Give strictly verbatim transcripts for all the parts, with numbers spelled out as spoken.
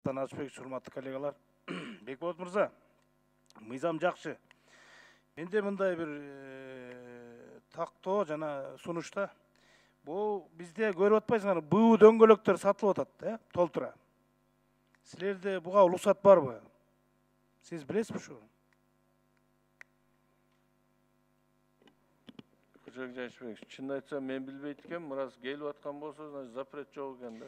Нурсултан Ажыбекович, урматтуу коллегалар. Бекболот мырза, мыйзам жакшы. Менде мындай бир тактоо жана сунушта бул бизде көрүп атпайсыңарбы, буу дөңгөлөктөр сатылып атат, э, толтура. Силерде буга уруксат барбы? Сиз билесизби ушу? Кожобек Жайшыбекович, чынын айтсам мен билбейт экенмин, мурас келип аткан болсо, значит запрет жок экен да.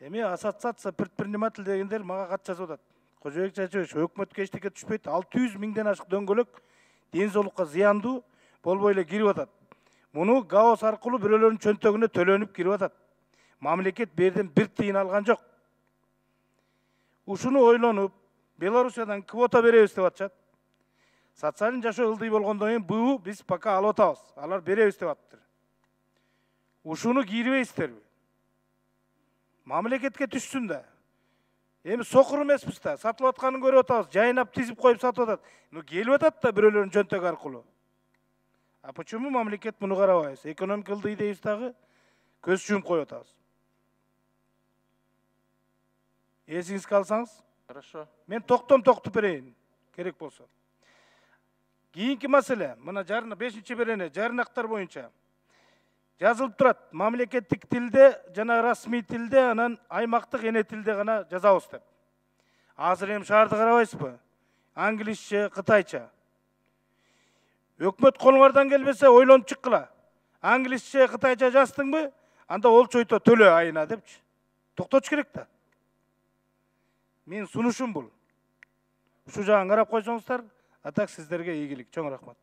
Эми ассоциация предприниматель дегендер мага кат жазып атат. Кожобек Жайшыбекович, өкмөткө эчтеке түшпөйт. алты жүз миңден ашык дөңгөлөк ден соолукка зыяндуу болбой эле кирип атат. Муну гаос аркылуу бирөөлөрдүн чөнтөгүнө төлөнүп кирип атат. Мамлекет берден бир тыйын алган жок. Ушуну ойлонуп, Белоруссиядан квота беребиз деп атышат. Социалдын жашоо ылдый болгондон кийин буу биз пока алып атабыз. Алар беребиз деп атыптыр. Ушуну кийрибейсиздерби? Мамлекетке түшсүн да. Эми сокур эмеспиз да, сатылып атканын көрүп атабыз, жайнап тизип коюп сатып атат. Ну келип атат да бирөөлөрдүн чөнтөгү аркылуу. А почему мамлекет муну карабайбыз? Экономика ылдый дейбиз дагы, көз жумуп коюп атабыз. Эсиңизге алсаңыз? Хорошо. Мен токтом токтуп берейин, керек болсо. Кийинки маселе, мына жарына бешинчи берене, жарнактар боюнча жазылып турат. Мамлекеттик тилде жана расмий тилде, анан аймактык эне тилде гана жазабыз деп. Азыр эми шаарды карабайсызбы? Англисче, кытайча. Өкмөт колуңардан келбесе ойлонуп чыккыла. Англисче, кытайча жаздыңбы? Анда олчойто төлө айына депчи. Токтотуш керек да. Мен сунушум бул. Ушу жагын карап койсоңуздар, а так сиздерге ийгилик. Чоң рахмат.